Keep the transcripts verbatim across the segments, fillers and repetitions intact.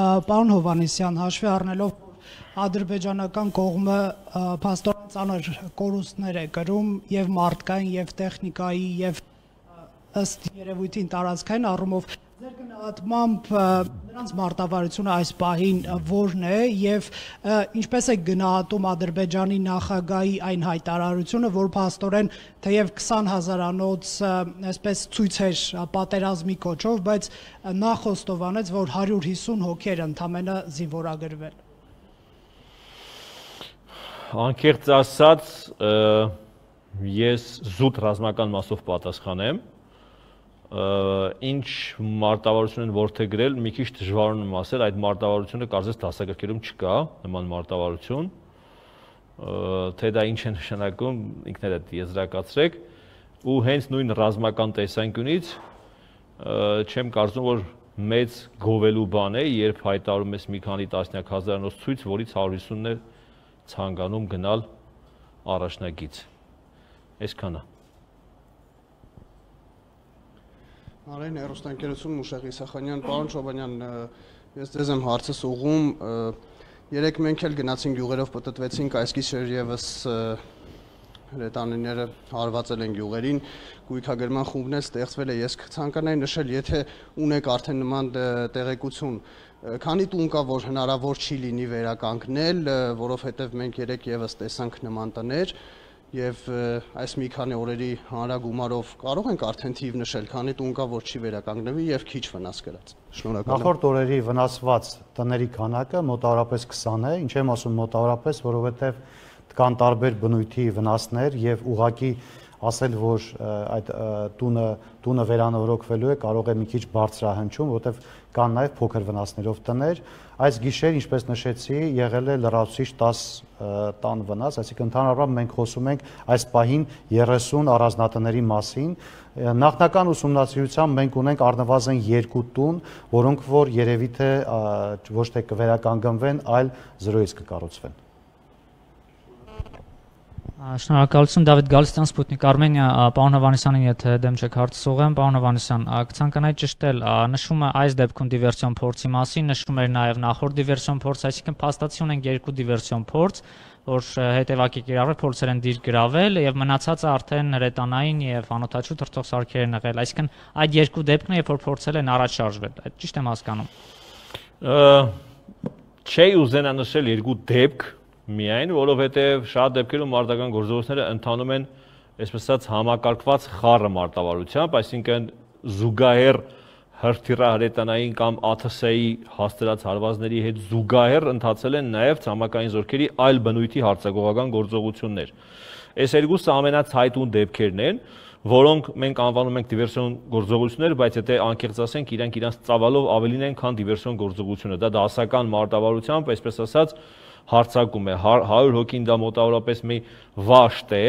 Պարոն Հովհաննիսյան, հաշվի առնելով ադրբեջանական կողմը փաստորեն ծանր կորուստներ է կրում եւ մարդկային եւ տեխնիկայի եւ ըստ երևույթին տարածքային առումով ձեր գնահատմամբ նրանց մարտավարությունը այս պահին որն է եւ ինչպես է գնահատում Ադրբեջանի նախագահի այն հայտարարությունը, որ փաստորեն թեև քսան հազարանոց այսպես ցույցեր պատերազմի կոչով, բայց նա խոստովանեց, որ հարյուր հիսուն հոգի ընդամենը զինվորագրվել։ Անկեղծ ասած, ես զուտ ռազմական մասով պատասխանեմ, ինչ մարտավարություն են որդեգրել, մի քիչ դժվարում եմ ասել, այդ մարտավարությունը կարծես դասագրքերում չկա, նման մարտավարություն, թե դա ինչ է նշանակում, ինքներդ եզրակացրեք, ու հենց նույն ռազմական տեսանկյունից չեմ կարծում, որ մեծ գովելու բան է, երբ հայտարարում ես մի քանի տասնյակ հազարանոց ցույց, որից հարյուր հիսունն է ցանկանում գնալ առաջնագիծ։ Այսքանը։ Արեն հեռուստաընկերություն Մուշեղ Իսախանյան, պարոն Չոբանյան, ես ձեզ եմ հարցս ուղղում, երեք մենք էլ գնացինք գյուղերով պտտվեցինք, այս գիշեր ևս հրետանիները հարվածել են գյուղերին, գույքագրման խումբներ ստեղծվել է, ես ցանկանայի նշել, եթե ունեք արդեն նման տեղեկություն, քանի տուն կա, որ հնարավոր չի լինի վերականգնել, որովհետև մենք երեք ևս տեսանք նման տներ, Եվ այս մի քանի օրերի հանրագումարով կարող ենք արդեն թիվ նշել, քանի տուն կա, որ չի վերականգնվի եւ քիչ վնաս կրած։ Շնորհակալ եմ։ Նախորդ օրերի վնասված տների քանակը մոտավորապես քսան է, ինչ եմ ասում մոտավորապես, որովհետեւ կան տարբեր բնույթի վնասներ եւ ուղղակի ասել, որ այդ տունը տունը վերանորոգվելու է, կարող է մի քիչ բարձրահնչում, որովհետև կան նաև փոքր վնասներով տներ։ Այս գիշեր, ինչպես նշեցի, եղել է լրացուցիչ տաս տան վնաս, այսինքն ընդհանրապես մենք խոսում ենք այս պահին երեսուն առանձնատների մասին։ Նախնական ուսումնասիրությամբ մենք ունենք առնվազն երկու տուն, որոնք որ երևի թե ոչ թե կվերականգնվեն, այլ զրոյից կկառուցվեն։ Շնորհակալություն Դավիթ Գալստյան, Սպուտնիկ Արմենիա, պարոն Հովհաննիսյանին, եթե դեմ չեք հարցս ուղղեմ, պարոն Հովհաննիսյան, կցանկանայի ճշտել, նշում է այս դեպքում դիվերսիոն փորձի մասին, նշում էր նաև նախորդ դիվերսիոն փորձ, այսինքն փաստացի ունենք երկու դիվերսիոն փորձ, որ հետևակի կիրառել փորձեր են դիր գրավել եւ մնացածը արդեն հրետանային եւ անօթաչու թռչող սարքեր են եղել, այսինքն այդ երկու դեպքն է, երբ որ փորձել են առաջ շարժվել, այդ ճիշտ եմ հասկանում։ Չի ուզենա նշել երկու դեպք միայն, որովհետև շատ դեպքերում մարտական գործողությունները ընթանում են, այսպես ասած, համակարգված խառը մարտավարությամբ, այսինքն զուգահեռ հրթիռահրետանային կամ ԱԹՍ-ի հասցրած հարվածների հետ զուգահեռ ընթացել են նաև ցամաքային զորքերի այլ բնույթի հարձակողական գործողություններ։ Այս երկուսը ամենացայտուն դեպքերն են, որոնք մենք անվանում ենք դիվերսիոն գործողություններ, բայց եթե անկեղծ ասենք, իրանք իրանց ծավալով ավելին են, քան դիվերսիոն գործողությունը։ Դա դասական մարտավարությամբ, այսպես ասած, հարցակում է, հարյուր հոգին դա մոտավորապես մի վաշտ է,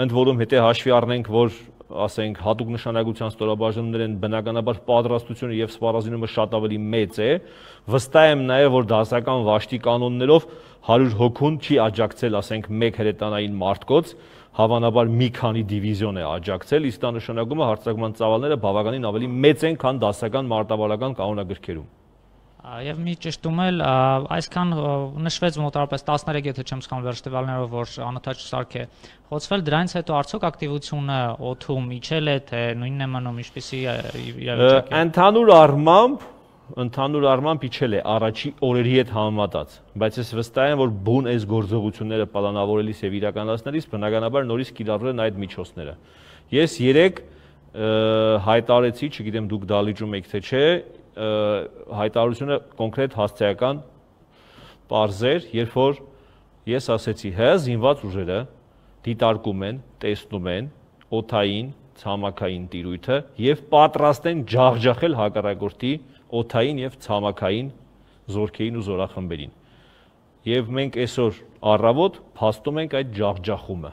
ընդ որում հետո հաշվի առնենք, որ ասենք հատուկ նշանակության ստորաբաժանումներ են, բնականաբար պատրաստությունը եւ սպառազինումը շատ ավելի մեծ է, վստահ եմ նաեւ, որ դասական վաշտի կանոններով հարյուր հոգուն չի աջակցել, ասենք, մեկ հրետանային մարտկոց, հավանաբար մի քանի դիվիզիոն է աջակցել, իսկ դա նշանակում է հարձակման ծավալները բավականին ավելի մեծ են, քան դասական մարտավարական կանոնագրքերում։ Եվ մի ճշտում էլ, այսքան նշվեց մոտավորապես տասներեք, եթե չեմ սխալվում վերջտվալներով, որ անօթաչու սարք է խոցվել, դրանից հետո արդյոք ակտիվությունը օդում իջել է, թե նույնն է մնում, ինչպիսի իրավիճակ է։ Ընդհանուր առմամբ, ընդհանուր առմամբ իջել է առաջի օրերի հետ համեմատած, բայց ես վստահ եմ, որ բուն այս գործողությունները պլանավորելիս եւ իրականացնելիս բնականաբար նորից կիրառվել են այդ միջոցները։ Ես երեք հայտարարեցի, չգիտեմ դուք դալիճում եք թե չէ, հայտարարությունը կոնկրետ հասցեական պարզեր, երբ որ ես ասեցի, հա զինված ուժերը դիտարկում են, տեսնում են օդային, ցամաքային տիրույթը եւ պատրաստ են ջախջախել հակառակորդի օդային եւ ցամաքային զորքերին ու զորախմբերին։ Եվ մենք այսօր առավոտ փաստում ենք այդ ջախջախումը։